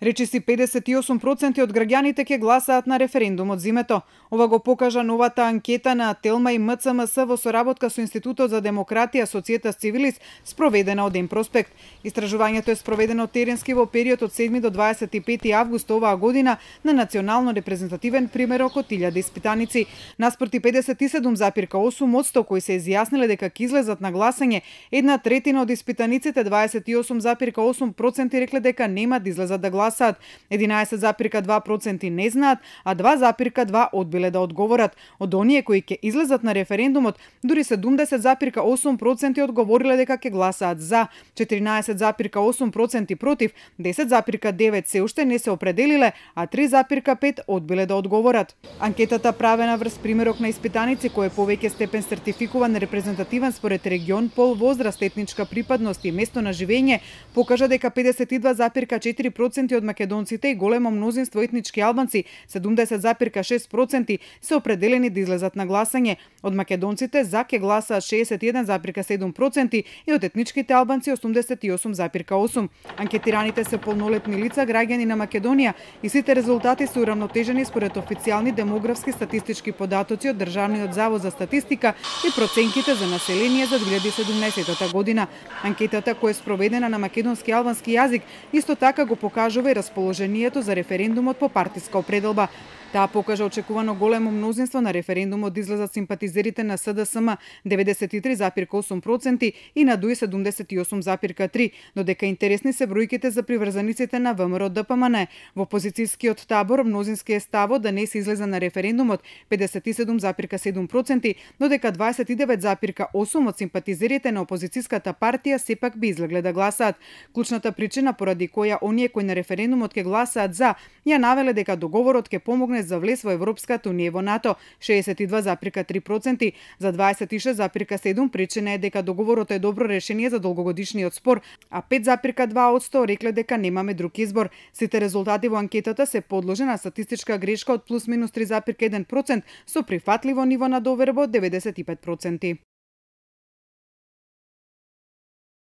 Речиси 58% од граѓаните ќе гласаат на референдумот зимето. Ова го покажа новата анкета на Телма и МЦМС во соработка со Институтот за демократија Societas Civilis, спроведена од Емпроспект. Истражувањето е спроведено теренски во период од 7 до 25 август оваа година на национално репрезентативен примерок од 1000 испитаници. Наспроти 57,8% кои се изјасниле дека ќе излезат на гласање, 1/3 од испитаниците, 28,8% рекле дека нема да излезат да гласаат. 11,2% не знаат, а 2,2% одбиле да одговорат. Од оние кои ќе излезат на референдумот, дури 70,8% одговориле дека ќе гласаат за, 14,8% против, 10,9% се уште не се определиле, а 3,5% одбиле да одговорат. Анкетата правена врз примерок на испитаници кој е повеќе степен сертификуван репрезентативен според регион, пол, возраст, етничка припадност и место на живење, покажа дека 52,4% од македонците и големо мнозинство етнички албанци, 70,6%, се определени да излезат на гласање. Од македонците за ќе гласаат 61,7% и од етничките албанци 88,8%. Анкетираните се полнолетни лица, граѓани на Македонија, и сите резултати се урамнотежени според официјални демографски статистички податоци од Државниот завод за статистика и проценките за население за 2017 година. Анкетата, која е спроведена на македонски и албански јазик, исто така го покажува и расположението за референдумот по партиска определба. Таа покажа очекувано големо мнозинство на референдумот да излезат симпатизерите на СДСМ 93,8% и на ДУИ 78,3%, додека интересни се бројките за приврзаниците на ВМРО ДПМН. Во опозицијскиот табор мнозински е ставот да не се излезе на референдумот 57,7%, додека 29,8% од симпатизерите на опозицијската партија сепак би излегле да гласаат. Клучната причина поради која оние кои на референдумот ќе гласаат за, ја навеле дека договорот ќе помогне за влез во Европската унија и во НАТО, 62,3%, за 26,7% причина е дека договорот е добро решение за долгогодишниот спор, а 5,2% рекле дека немаме друг избор. Сите резултати во анкетата се подложени на статистичка грешка од плюс минус 3,1% со прифатливо ниво на доверба од 95%.